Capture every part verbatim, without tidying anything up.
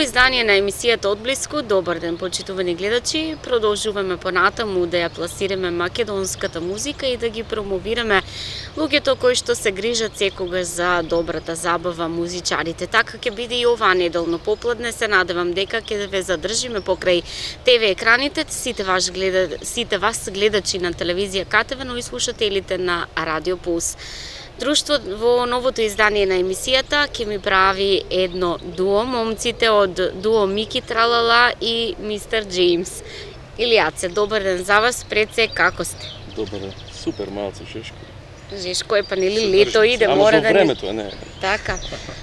издание на емисијата Одблиску. Добар ден, почитувани гледачи. Продолжуваме понатаму да ја пласираме македонската музика и да ги промовираме луѓето кои што се грижат секогаш за добрата забава, музичарите. Така ќе биде и оваа неделно попладне. Се надевам дека ќе ве задржиме покрај Т В екраните, сите вас гледа, сите вас гледачи на телевизија К Т В, но и слушателите на Радио Пулс. Друштво во новото издание на емисијата ќе ми прави едно дуо, момците од дуо Мики Тралала и мистер Джеймс. Илијаце, добар ден за вас, пред се како сте? Добар ден, супер малце Жешко. Жешко е, па нели лето иде, мора да... Ама времето е, не. Така.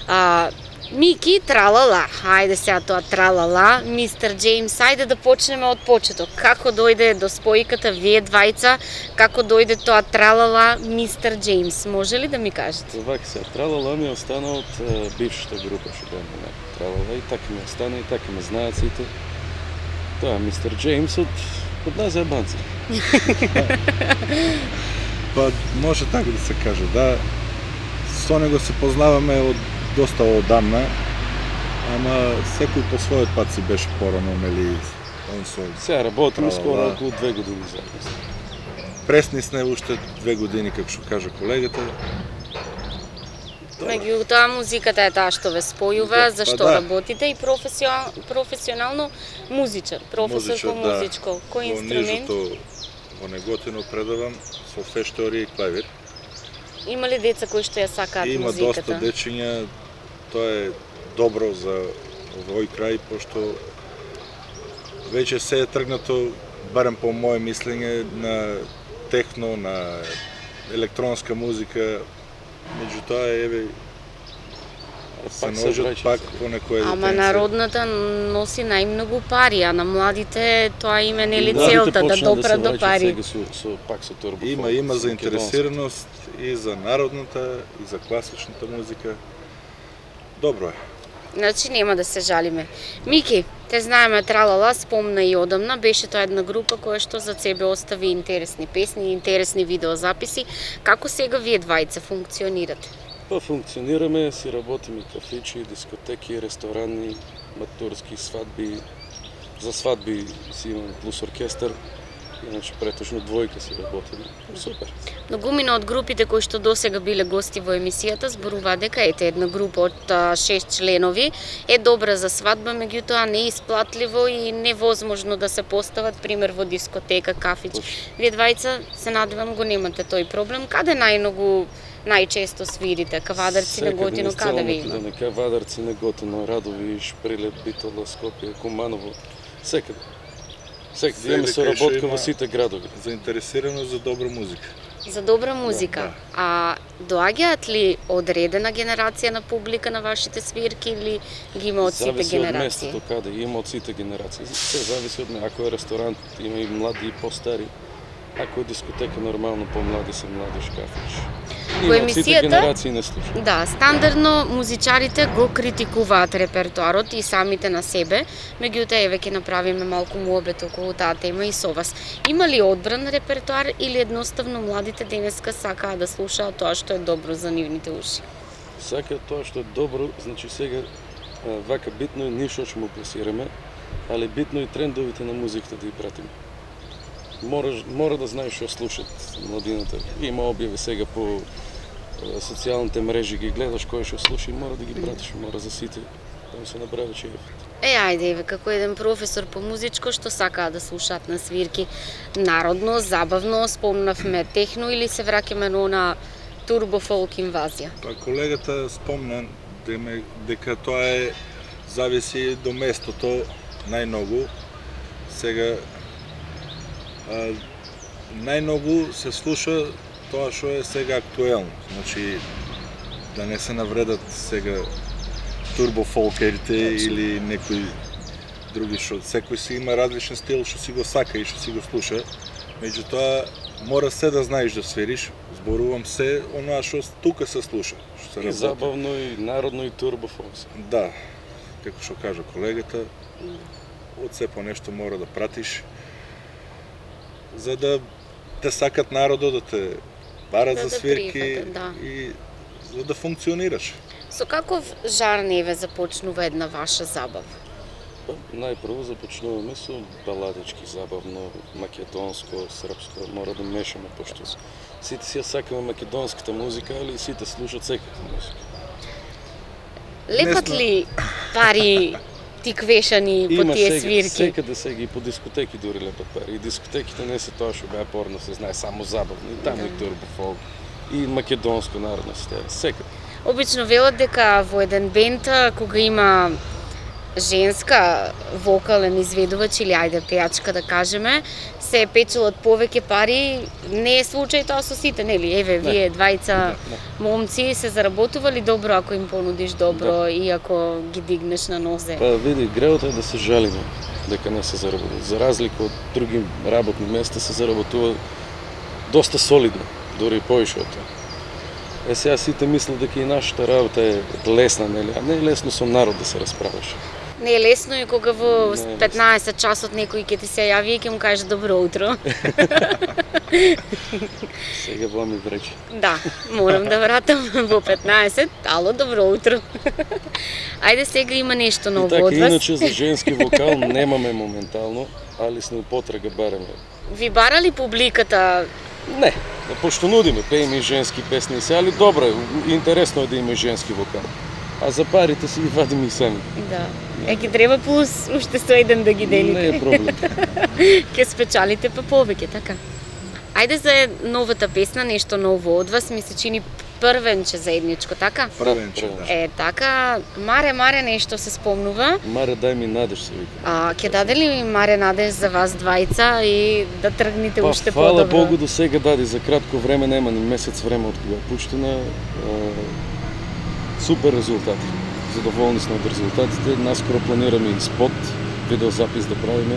А, Мики Тралала, хајде сега тоа Тралала, мистер Джеймс, хајде да почнеме од почеток. Како дојде до спојката вие двајца, како дојде тоа Тралала, мистер Джеймс, може ли да ми кажете? Вака сега, Тралала ми остана од uh, бившата група што беме, Тралала, и така ми остана, и така ме знаат сите. Тоа мистер Джеймс од, од нас ебанци. Па, може така да се каже, да. Со него се познаваме од доста одамна, ама секој по својот пат си беше порано, нели, он со... Сега работиме скоро околу две години заедно. Пресни сме уште две години, како што кажа колегата. Меѓутоа, музиката е таа што ве спојува, Да, зашто па да. работите и професионално, професионално музичар, професор Музичар, по да. музичко. Кој Во инструмент? нижото, во Неготино предавам со фештори и клавир. Има ли деца кои што ја сакаат Има музиката? доста дечиња, тоа е добро за овој крај, пошто веќе се е тргнато, барем по моје мислење, на техно, на електронска музика, меѓутоа еве се Пак се ножат враќа пак сега. по некоја детенце. Ама народната носи најмногу пари, а на младите тоа им е нели Младите целта да почнаа допрат се до враќаат пари. сега со, со, пак со турбофон. Има, има со заинтересираност и за народната, и за класичната музика. Добро е. Значи нема да се жалиме. Мики, те знаеме Тралала, спомна и одамна, беше тоа една група која што за себе остави интересни песни, интересни видеозаписи. Како сега вие двајца функционирате? Па функционираме, си работиме кафичи, дискотеки, ресторани, матурски свадби. За свадби си имаме плюс оркестар, иначе претежно двојка си работиме. Супер. Многумина од групите кои што досега биле гости во емисијата зборува дека ете една група од а, шест членови е добра за свадба, меѓутоа неисплатливо и невозможно да се постават пример во дискотека, кафич. Вие двајца се надевам го немате тој проблем. Каде најмногу најчесто свирите? Кавадарци, Неготино, каде ви има? Секаде, Кавадарци, Неготино, Радовиш, Прилеп, Битола, Скопје, Куманово, секаде. Секаде имаме соработка во сите градови. Заинтересирано за добра музика. За добра музика. Да, да. А доаѓаат ли одредена генерација на публика на вашите свирки или ги има од сите Зависи од генерации? местото каде, има од сите генерации. Се зависи од ме. Ако е ресторант, има и млади и постари. Ако е дискотека, нормално по-млади се млади шкафиш. Во Има од сите емисијата- генерации не слушам. Да, стандардно музичарите го критикуваат репертоарот и самите на себе, меѓутоа еве ќе направиме малку муабет околу таа тема и со вас. Има ли одбран репертоар или едноставно младите денеска сакаат да слушаат тоа што е добро за нивните уши? Сакаат тоа што е добро, значи сега а, вака битно е ние што ќе му пласираме, али битно и трендовите на музиката да ги пратиме. Мора, мора да знаеш што слушат младината. Има објави сега по а, социјалните мрежи, ги гледаш кој што слуша и мора да ги пратиш, мора за сите да му се направи чејефот. Е, ајде, еве, како еден професор по музичко, што сакаат да слушаат на свирки народно, забавно, спомнавме техно или се враќаме на она турбо фолк инвазија? Па колегата спомна деме, дека тоа е зависи до местото најмногу. Сега а, најмногу се слуша тоа што е сега актуелно. Значи да не се навредат сега турбофолкерите или некои други што секој си има различен стил што си го сака и што си го слуша. Меѓутоа мора се да знаеш да свириш. Зборувам се онаа што тука се слуша, што се И работи. забавно, и народно, и турбофолк. Да, како што кажа колегата, од се по нешто мора да пратиш, за да те сакат народот, да те барат Да за те свирки прифатат, да. и за да функционираш. Со каков жар неве започнува една ваша забава? Па, најпрво започнуваме со баладички, забавно, македонско, српско, мора да мешаме, пошто сите си ја сакаме македонската музика, али сите слушат секаква музика. Лепат ли пари ти квешани по Има тие сега, свирки? секаде сега и по дискотеки дури лепат пари. И дискотеките не се тоа што беа порно, се знае само забавно. И таму и турбофолк, и македонско народно стеја, секаде. Обично велат дека во еден бенд кога има женска вокален изведувач или ајде пејачка да кажеме, се печелат повеќе пари. Не е случај тоа со сите, нели? Еве, вие двајца момци се заработували добро ако им понудиш добро и ако ги дигнеш на нозе. Па види, греото е да се жалиме дека не се заработува. За разлика од други работни места се заработува доста солидно, дури и поише од тоа. Е, сега сите мислат дека и нашата работа е лесна, нели? А не е лесно со народ да се расправаш. Не е лесно и кога во Не е петнаесет часот некој ќе ти се јави и ќе му каже добро утро. Сега во ми врече. Да, морам да вратам во петнаесет, ало добро утро. Ајде сега има нешто И ново така, од вас. иначе за женски вокал немаме моментално, али сме у потрага бараме. Ви бара ли публиката? Не, пошто нудиме, пееме и женски песни се, али добро е, интересно е да има и женски вокал. А за парите си ги вадиме и сами. Да. Е, ќе треба плюс уште сто еден да ги делите. Не е проблем. Ќе спечалите па повеќе, така. Ајде за новата песна, нешто ново од вас, ми се чини првенче заедничко, така? Првенче, да. Е, така, Маре, Маре нешто се спомнува. Маре, дај ми надеж, се вика. А, ќе даде ли Маре надеж за вас двајца и да тргнете Па, уште фала подобро? Богу, до сега даде, за кратко време, нема ни месец време од кога е пуштена. Супер резултати. Задоволни сме од резултатите. Наскоро планираме и спот, видеозапис да правиме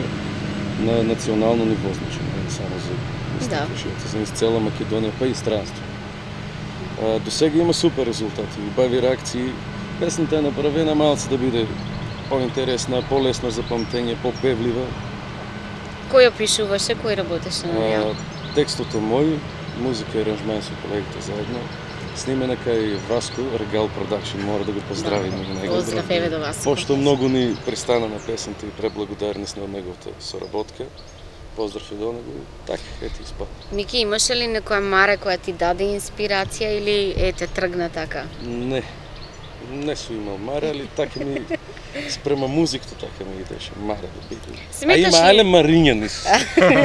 на национално ниво, значи, не само за изтекошите, за из цела Македонија, па и странство. А, до сега има супер резултати, убави реакции. Песната е направена малце да биде по-интересна, по-лесна за памтење, по-певлива. Кој ја пишуваше, кој работеше на неја? А, текстот е мој, музика и аранжмент со колегите заедно. Снимена кај Васко, Регал Продакшн, мора да го поздравиме и него. Поздрав еве до вас. Пошто многу ни пристана на песната и преблагодарни сме од неговата соработка. Поздрав и до него. Така, ете испад. Мики, имаше ли некоја Маре која ти даде инспирација или ете тргна така? Не, не су имал Маре, али така ми спрема музиката така ми идеше. Маре да биде. А Сметаш има ли- але Мариња низ,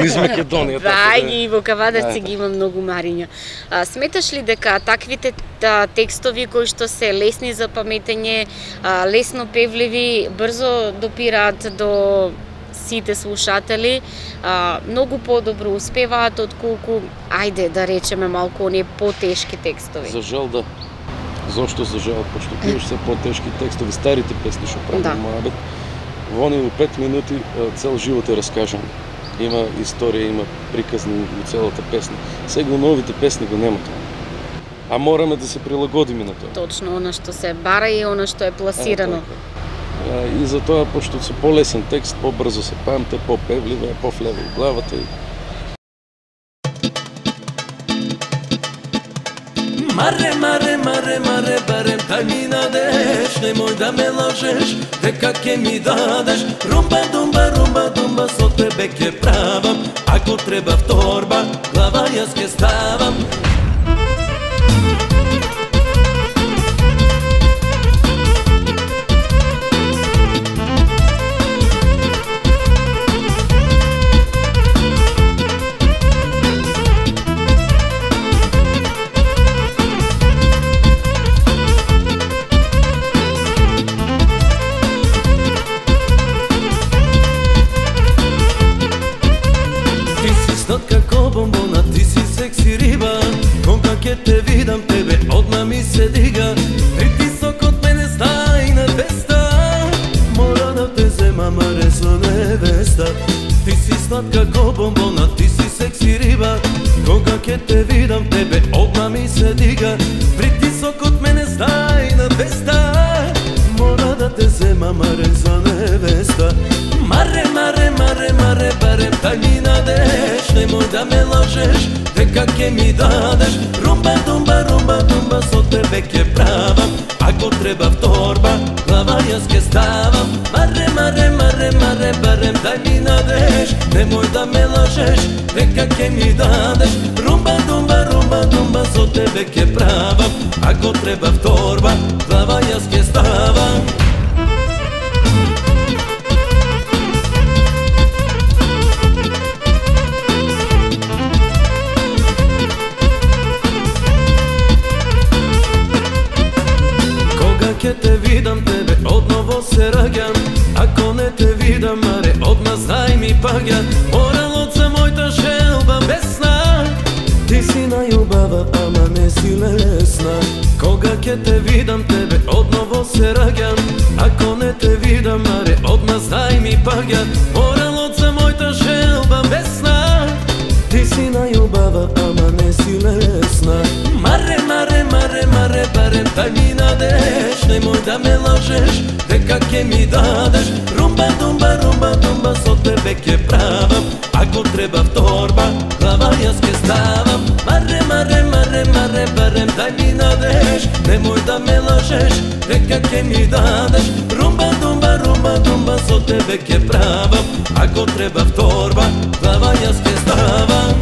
низ Македонија. Да, така и во Кавадарци Да. ги има многу Мариња. А, сметаш ли дека таквите та, текстови кои што се лесни за паметење, а, лесно певливи, брзо допираат до сите слушатели, а, многу подобро успеваат отколку, ајде да речеме малку оние потешки текстови? За жал да. Зошто за жал? Пошто пиеш се потешки текстови, старите песни што правиме Да. Моабет. Во они у пет минути а, цел живот е раскажан. Има историја, има приказни у целата песна. Сега у новите песни го нема тоа. А мораме да се прилагодиме на тоа. Точно, она што се бара и она што е пласирано. А, така. А, и за тоа, пошто се полесен текст, побрзо се памте, попевливо е, пофлева у главата и Маре, маре, маре, маре, барем кај ми надеш, немој да ме лажеш, дека ќе ми дадеш. Румба, думба, румба, думба, со тебе ќе правам, ако треба вторба, глава јас ќе ставам. Бомбона, ти си секси риба, кога ќе те видам тебе, одма ми се дига. Притисок од мене стај на двеста, мора да те зема Маре со невеста. Ти си сладка ко бомбона, ти си секси риба, кога ќе те видам тебе, одма ми се дига. Притисок од мене стај на двеста, мора да те зема Маре за невеста. Маре, маре, маре, маре, барем кај ми надеш, немој да ме лажеш, дека ќе ми дадеш. Румба, думба, румба, думба, со тебе веќе правам. Ако треба вторба, глава јас ке ставам. Маре, маре, маре, маре, барем дај ми надеж. Немој да ме лажеш, дека ке ми дадеш. Румба, думба, румба, думба, со тебе ке правам. Ако треба вторба, глава јас ке ставам. Ке те видам тебе, одново се раѓам. Ако не те видам, маре, одма знај ми паѓа. Моралот за мојта желба бесна. Ти си најубава, ама не си лесна. Кога ке те видам тебе, одново се раѓам. Ако не те видам, маре, одма знај ми паѓа. Моралот за мојта желба бесна. Ти си најубава, ама не си лесна. Маре, маре, маре, маре, барем дај ми надеж. Немој да ме лажеш, дека ке ми дадеш. Румба, думба, румба, думба, со тебе ке правам. Ако треба вторба, глава јас ке ставам. Маре, маре, маре, маре, барем дај ми надеж. Немој да ме лажеш, дека ке ми дадеш. Румба, думба, румба, думба, со тебе ке правам. Ако треба вторба, глава јас ке ставам.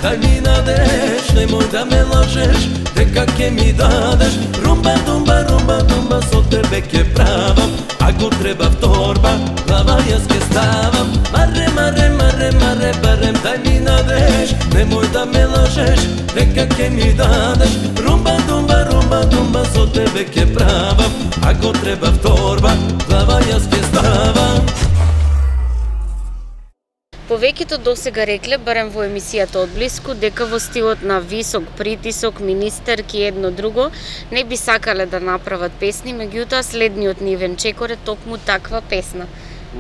Дај ми надеж, немој да ме лажеш, дека ке ми дадеш. Румба, думба, румба, думба, со тебе ке правам. Ако треба вторба, глава јас ке ставам. Маре, маре, маре, маре, барем дај ми надеж. Немој да ме лажеш, дека ке ми дадеш. Румба, думба, румба, думба, со тебе ке правам. Ако треба вторба, глава јас ке ставам. Повеќето досега рекле, барем во емисијата Одблиску, дека во стилот на висок притисок, министерки едно друго, не би сакале да направат песни, меѓутоа следниот нивен чекор е токму таква песна.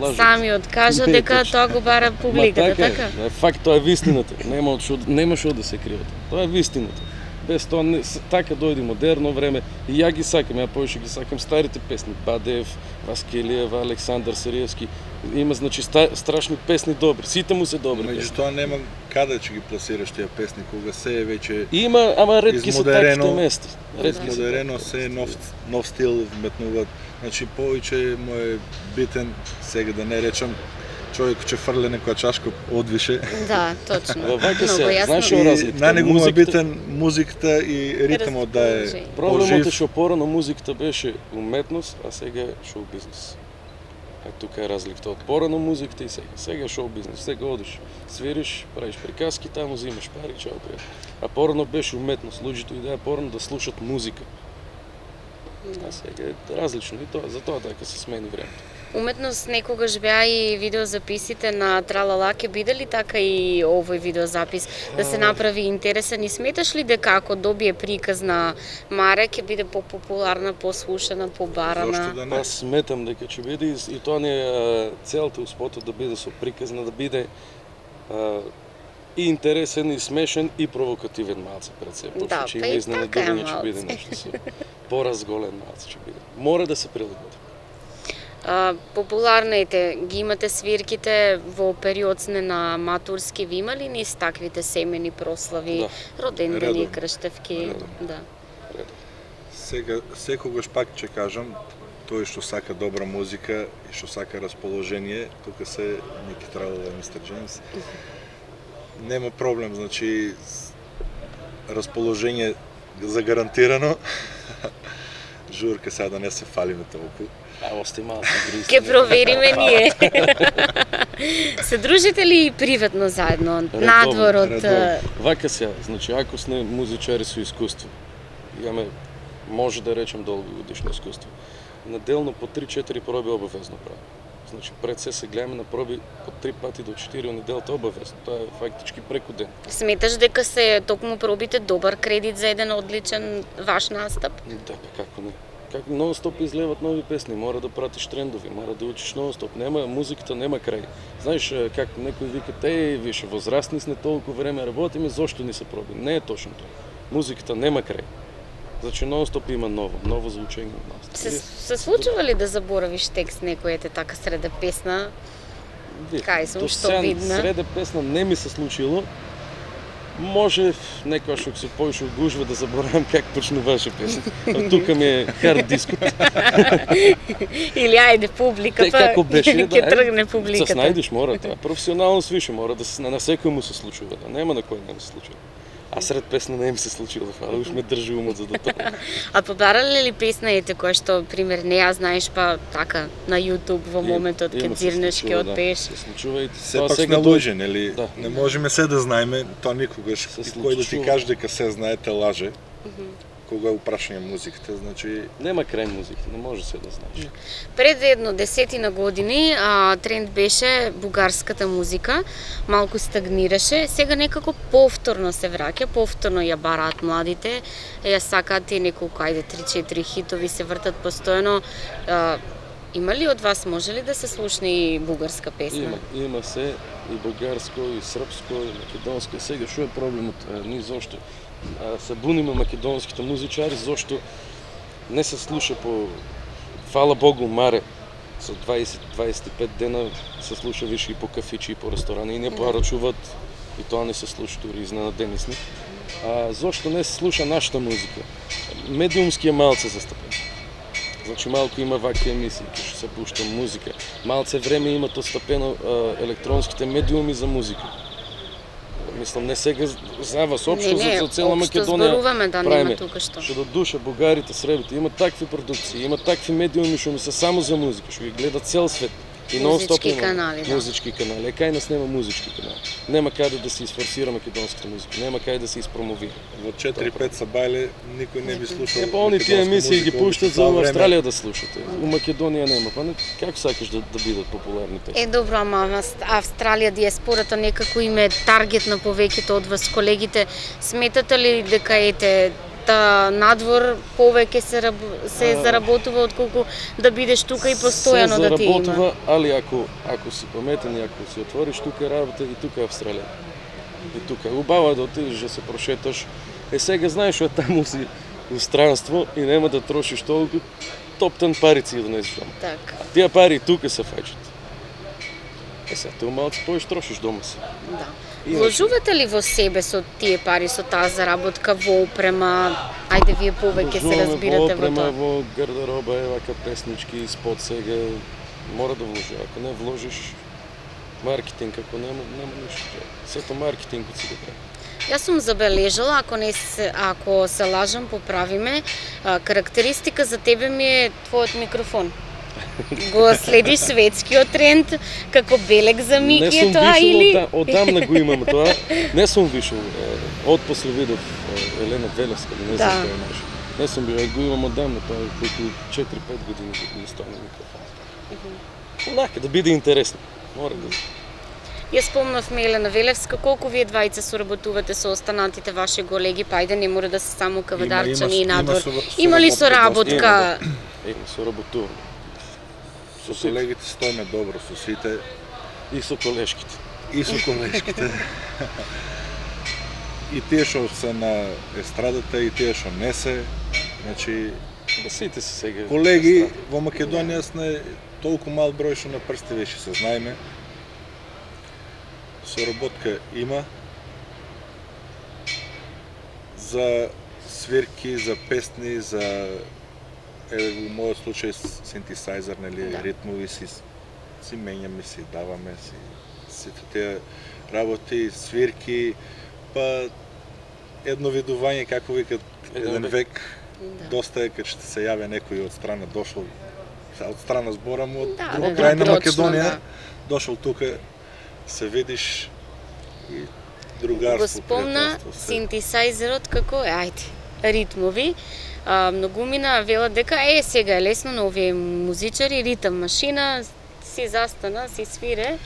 Лажат. Самиот кажа Не, дека точно. тоа го бара публиката, така? така? Е, факт, тоа е вистината. Нема од шо, нема шо да се криете. Тоа е вистината. Без тоа не, така дојде модерно време и ја ги сакам, ја повеќе ги сакам старите песни, Бадеев, Васкелиева, Александар Сериевски. Има значи ста, страшни песни добри, сите му се добри. Меѓутоа нема каде ќе ги пласираш тие песни кога се е веќе Има, ама ретки се таквите места. Ретки измодерено, се нов нов стил вметнуваат. Значи повеќе му е битен сега да не речам човек ќе фрле некоја чашка одвише. Да, точно. Во вака се, Много јасно. знаеш што разликата? На него му е Музиката- битен музиката и ритмот да е Расположение. Проблемот е пожив. што порано музиката беше уметност, а сега е шоу бизнес. А тука е разликата од порано музиката и сега. Сега е шоу бизнес. Сега одиш, свириш, правиш приказки, таму взимаш пари, чао пријател. А порано беше уметност. Луѓето идеа порано да слушат музика. А сега е различно и тоа, затоа така се смени времето. Уметност некогаш беа и видеозаписите на Тралала, ке биде ли така и овој видеозапис да се направи интересен и сметаш ли дека ако добие приказ на Маре ќе биде попопуларна, послушана, побарана? Зошто да не? Аз сметам дека ќе биде и, и тоа не е а, целта успотот да биде со приказна, да биде а, и интересен, и смешен, и провокативен малце пред се. Да, Почне, че па има и изненадување така е ќе биде малце. нешто се. Поразголен малце ќе биде. Мора да се прилагоди. А, популарните ги имате свирките во период сне на матурски, ви имали низ таквите семени прослави, Да. родендени, Редовно. крштевки? Редовно. Да. Сега секогаш пак ќе кажам, тој што сака добра музика и што сака расположение, тука се Ники Тралала и мистер Джеймс. Нема проблем, значи с- расположение загарантирано. Журка сега да не се фалиме толку. А ости малце гриз. Ке провериме ние. Се дружите ли и приватно заедно, надвор од... редовно. Вака сега, значи ако сме музичари со искуство, имаме, може да речем долгогодишно искуство, неделно по три-четири проби обавезно правиме. Значи пред се се гледаме на проби од три пати до четири неделата обавезно. Тоа е фактички преку ден. Сметаш дека се токму пробите добар кредит за еден одличен ваш настап? Да, па како не. Како нон-стоп излеват нови песни, мора да пратиш трендови, мора да учиш нон-стоп. Нема музиката, нема крај. Знаеш как некои викат, еј, више возрастни сме, толку време работиме, зошто ни се проби? Не е точно тоа. Музиката нема крај. Значи нон-стоп има ново, ново звучење од нас. Се, се случува ли да заборавиш текст некој ете така среде песна? Кај сум, што видна? Среде песна не ми се случило. Може некојаш ако се поише од гужва да заборавам как почнуваше песна. А тука ми е хард дискот. Или ајде публика, Те, како беше, ќе да, тргне публиката. Се снајдеш, мора тоа. Професионално свише мора да се на секој му се случува, да нема на кој не му се случува. А сред песна не им се случило, фала, уж ме држи умот за да тоа. А побарале ли песна ете која што пример не ја знаеш па така на YouTube во моментот ке дзирнеш ке одпееш? Се случува и сепак сме луѓе, нели? Да. Не можеме се да знаеме, тоа никогаш. Кој да ти каже дека се знае те лаже. Кога е упрашање музиката, значи нема крај музиката, не може се да знаеш. Пред едно десетина години а, тренд беше бугарската музика, малку стагнираше, сега некако повторно се враќа, повторно ја бараат младите, ја сакаат и неколку ајде три-четири хитови се вртат постојано. А, има ли од вас, може ли да се слушне и бугарска песна? Има, има се и бугарско, и српско, и македонско. Сега што е проблемот? Ни зошто се буниме македонските музичари, зошто не се слуша по, фала Богу, маре, со дваесет до дваесет и пет дена се слуша више и по кафичи и по ресторани, и не порачуваат, и тоа не се слуша дури изненадени сме. А зошто не се слуша нашата музика? Медиумски е малце застапен. Значи малку има вакви емисии, кај што се пушта музика. Малце време имат остапено електронските медиуми за музика. Мислам, не сега за вас, општо не, не, за цела Македонија зборуваме, да, правиме. Нема тука што. Што до душа бугарите, сребите, имат такви продукции, имат такви медиуми што ми се само за музика, што ги гледа цел свет. И нон-стоп има канали, да. музички канали. Е, кај нас нема музички канали. Нема каде да се изфорсира македонската музика, нема каде да се испромовира. Во четири-пет сабајле никој не би слушал. Е, па они тие емисии ги пуштат за Австралија да слушате. У Македонија нема. Па не, како сакаш да, да бидат популарни песни? Е, добро, ама Австралија, диаспората некако им е таргет на повеќето од вас колегите. Сметате ли дека ете та надвор повеќе се раб... се а, заработува отколку да бидеш тука и постојано да ти има? Се заработува, али ако ако си паметен и ако си отвориш тука работа и тука Австралија. И тука убава да отидеш да се прошеташ. Е сега знаеш што таму си у странство и нема да трошиш толку, топтан парици да донесеш дома. Така. А тие пари тука се фаќат. Е сега ти малку поиш трошиш дома си. Да. Вложувате ли во себе со тие пари, со таа заработка во опрема? Ајде вие повеќе се разбирате во тоа. Во опрема, во гардероба, евака песнички, спот сега, мора да вложи. Ако не вложиш маркетинг, ако нема, нема ништо. Сето маркетингот си го прави. Јас сум забележала, ако не се, ако се лажам, поправиме, карактеристика за тебе ми е твојот микрофон. Го следиш светскиот тренд, како белег за Мики е тоа или? Не сум вишол, одамна го имам тоа. Не сум вишол. Од после видов Елена Велевска, не знам кој е наш. Не сум бил, го имам одамна тоа, колку четири-пет години го ми стои на микрофон. Онака, да биде интересно. Мора да. Ја спомнавме Елена Велевска, колку вие двајца соработувате со останатите ваши колеги, па ајде не мора да се само кавадарчани и надвор. Има ли соработка? Има соработуваме. Со колегите стоиме добро, со сите. И со колешките. И со колешките. И тие што се на естрадата, и тие што не се. Значи, да сите се сега. Колеги, во Македонија сме толку мал број што на прсти веќе се знаеме. Соработка има. За свирки, за песни, за еве во мојот случај синтесајзер, нели, да. Ритмови си си менјаме, си даваме, си сите тие работи, свирки, па едно видување, како викат, еден век, да. Доста е кога ќе се јави некој од страна дошол, од страна зборам од да, друг да, крај на точно, Македонија, да. Дошол тука, се видиш и другарство. Го спомна синтесајзерот како е, ајде, ритмови. А, многумина велат дека е сега е лесно на овие музичари, ритам машина, си застана, си свире,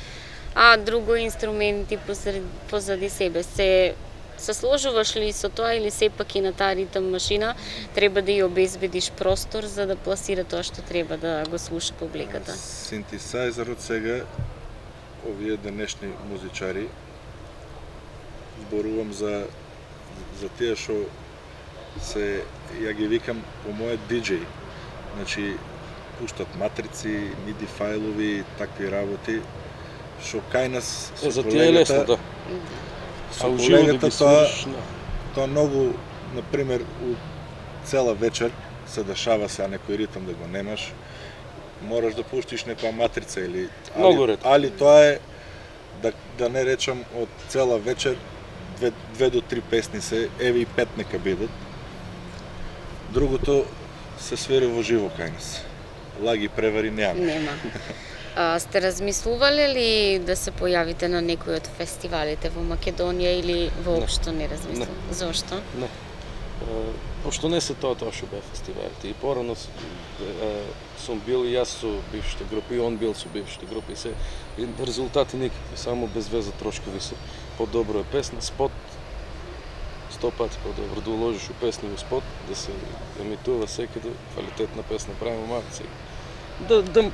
а друго инструменти позади, позади себе. Се се сложуваш ли со тоа или сепак и на таа ритм машина треба да ја обезбедиш простор за да пласира тоа што треба да го слуша публиката? Синтесайзерот сега, овие денешни музичари, зборувам за за тие што се, ја ги викам по моје диџеј. Значи, пуштат матрици, миди фајлови, такви работи, што кај нас со За тие е лесно, да. Со колегата тоа, тоа многу, например, у цела вечер се дешава се, а некој ритм да го немаш, мораш да пуштиш некоја матрица или Многу али, ред. али тоа е да да не речам од цела вечер две, две до три песни се, еве и пет нека бидат. Другото се свири во живо кај нас. Лаги превари нема. Нема. А, сте размислувале ли да се појавите на некој од фестивалите во Македонија или воопшто не размислувате? Не. Зошто? Не. Е, Пошто не се тоа тоа што беа фестивалите. И порано с- е, сум бил и јас со бившите групи, и он бил со бившите групи. И се и резултати никакви, само без веза трошкови се. Подобро е песна, спот, сто пати подобро да уложиш у песни во спот, да се емитува секаде, квалитетна песна правиме малку сега. Да, да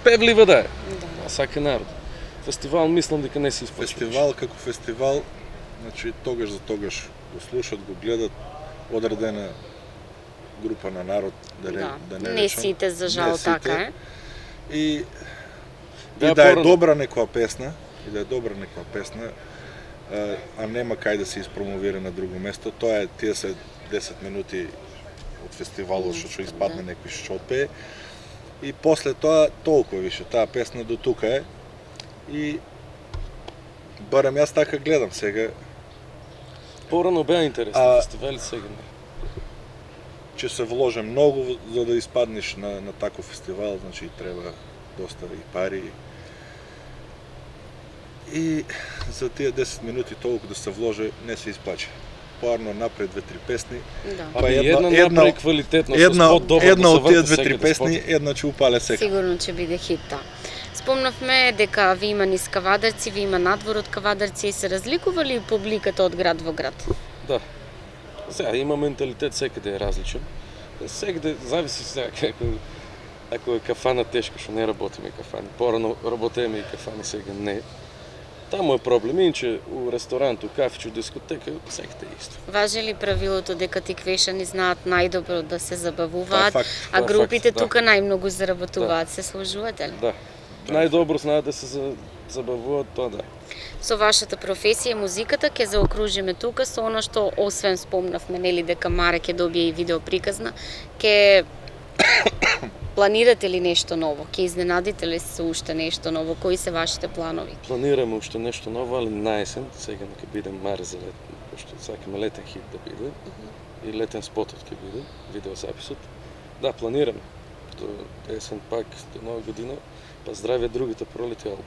певлива да е, Да. а сака народ. Фестивал мислам дека не се испочва. Фестивал како фестивал, значи тогаш за тогаш го слушат, го гледат одредена група на народ, да не, Да. да не Не речам. сите, за жал, Не сите. така е. И, Да, и да е порано. добра некоја песна, и да е добра некоја песна, а, а нема кај да се испромовира на друго место, тоа е тие се десет минути од фестивалот што ќе испадне Да. некој што отпее. И после тоа толку више, таа песна до тука е. И барем јас така гледам сега, Порано беа интересни А- фестивали, сега не. ќе се вложи многу за да испаднеш на, на таков фестивал, значи треба доста и пари. И за тие десет минути толку да се вложи не се исплачи. Поарно напред две-три песни. Да. Па Па една, една- една една- направи квалитетно, Една, со спот добро една да се од тие врти две-три секаде песни, спот. една ќе упале сега. Сигурно ќе биде хит, да. Спомнавме дека ви има низ Кавадарци, ви има надвор од Кавадарци и се разликува ли публиката од град во град? Да. Сега има менталитет, секаде е различен. Секаде зависи сега како ако е кафана тешко што не работиме кафани. Порано работеме и кафани, сега не. Таму е проблем, иначе у ресторант, у кафиче, у дискотека, секаде е исто. Важи ли правилото дека тиквешани знаат најдобро да се забавуваат, Тоа е факт, а тоа е групите факт, да. тука најмногу заработуваат? Се сложувате ли? Да. Најдобро знаат да се за- забавуваат, тоа да. Со вашата професија музиката ќе заокружиме тука со она што освен спомнавме нели дека Маре ќе добие и видео приказна, ќе планирате ли нешто ново? Ќе изненадите ли се уште нешто ново? Кои се вашите планови? Планираме уште нешто ново, али на есен, сега нека биде Маре за лет, пошто сакаме летен хит да биде. И летен спотот ќе биде, видеозаписот. Да, планираме. До есен пак, до нова година, па здравје другите пролети албум.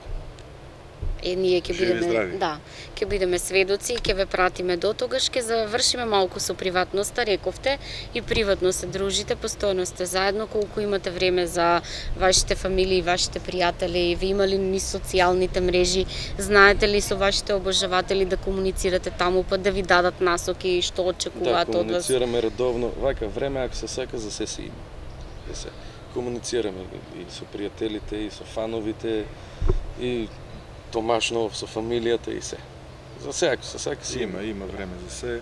Е, ние ќе Живи бидеме, здрави. да, ќе бидеме сведоци и ќе ве пратиме до тогаш, ќе завршиме малку со приватноста, рековте, и приватно се дружите, постојано сте заедно, колку имате време за вашите фамилии, вашите пријатели, ви има ли ни социјалните мрежи, знаете ли со вашите обожаватели да комуницирате таму, па да ви дадат насоки што Да, очекуваат од вас? комуницираме редовно. Вака време, ако се сака, за се си има. Да се комуницираме и со пријателите, и со фановите, и Томаш Нов со фамилијата и се. За се, ако се сака, си има. Има, има време за се.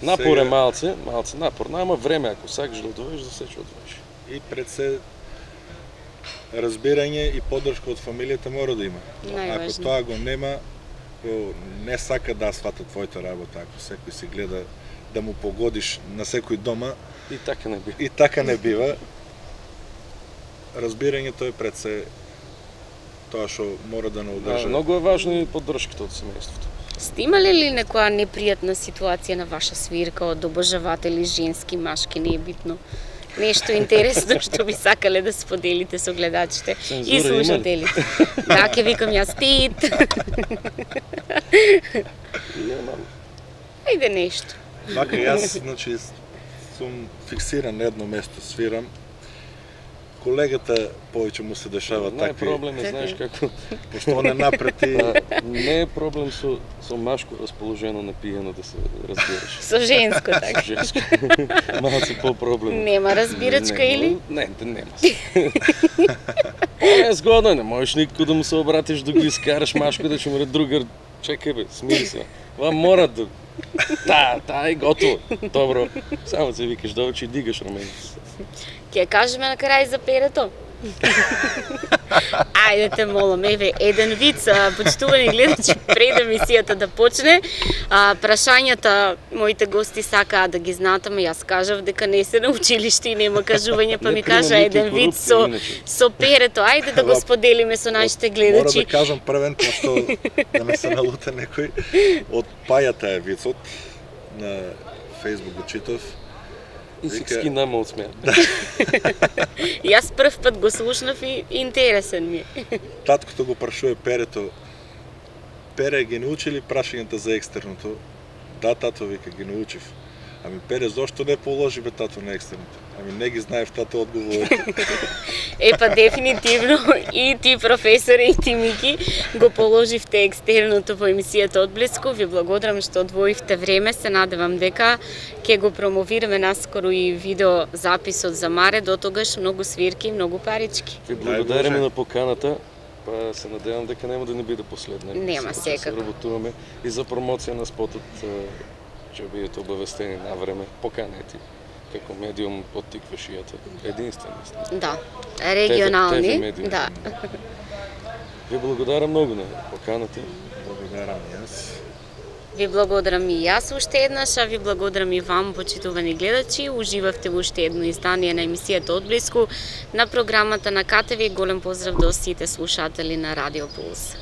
Напор е Сега- малце, малце напор. Нема време, ако сакаш да одвоиш, за се ќе одвоиш. И пред се разбирање и поддршка од фамилијата мора да има. Ако Најважно. тоа го нема, ако не сака да свата твојата работа, ако секој си гледа да му погодиш на секој дома, И така не би. и така не бива. Разбирањето е пред се тоа што мора да не Да, одржа. многу е важно и поддршката од семејството. Сте имале ли некоја непријатна ситуација на ваша свирка од обожаватели, женски, машки, не е битно? Нешто интересно што би сакале да споделите со гледачите и Цензура има ли? слушателите. Да, ќе викам јас тит. Немам. Ајде нешто. Вака јас, значи, сум фиксиран на едно место, свирам. колегата повеќе му се дешава Не е такви. проблем, е, знаеш како. Пошто он е напрети. Не е проблем со со машко расположено на пиено да се разбираш. Со женско така. Женско. Малце по-проблем. Нема разбирачка Нема, или? Не, не, нема. Не е згодно, не можеш никако да му се обратиш да го изкараш машко да ќе му ре другар. Чекај бе, смири се. Ова мора да... Та, та е готово. Добро. Само се викаш да очи и дигаш рамените. Ќе кажеме на крај за перето. Ајде те молам, еве еден виц, почитувани гледачи, пред емисијата да почне. А, прашањата моите гости сакаат да ги знаат, ама јас кажав дека не се на училиште и нема кажување, па Не ми прима кажа никој еден виц корупција, со иначе. со перето. Ајде да го споделиме со нашите гледачи. Мора да кажам првен, пошто да не се налуте некој. Од Пајата е вицот, на Фейсбук го читав. И всички нама одсмеа. Јас прв пат го слушнав и интересен ми е. Таткото го прашува перето. Пере, ги научили прашањата за екстерното? Да, тато, вика, ги научив. Ами Пере, зошто не положи бе тато на екстерното? Ами не ги знаев тато одговорите. Е, па дефинитивно и ти, професоре, и ти, Мики, го положивте екстерното во емисијата Одблиску. Ви благодарам што одвоивте време. Се надевам дека ќе го промовираме наскоро и видео записот за Маре. До тогаш многу свирки и многу парички. Ви благодариме на поканата. Па се надевам дека нема да не биде последна. Нема, Сега секако. Се работуваме и за промоција на спотот ќе бидете обавестени на време. Поканети како медиум од тиквешијата. Единствен. Да, регионални. Те ви медиуми. Да. Ви благодарам многу на поканата. Благодарам и јас. Ви благодарам и јас уште еднаш, а ви благодарам и вам, почитувани гледачи. Уживавте во уште едно издание на емисијата Одблиску на програмата на КТВ. Голем поздрав до сите слушатели на Радио Пулс.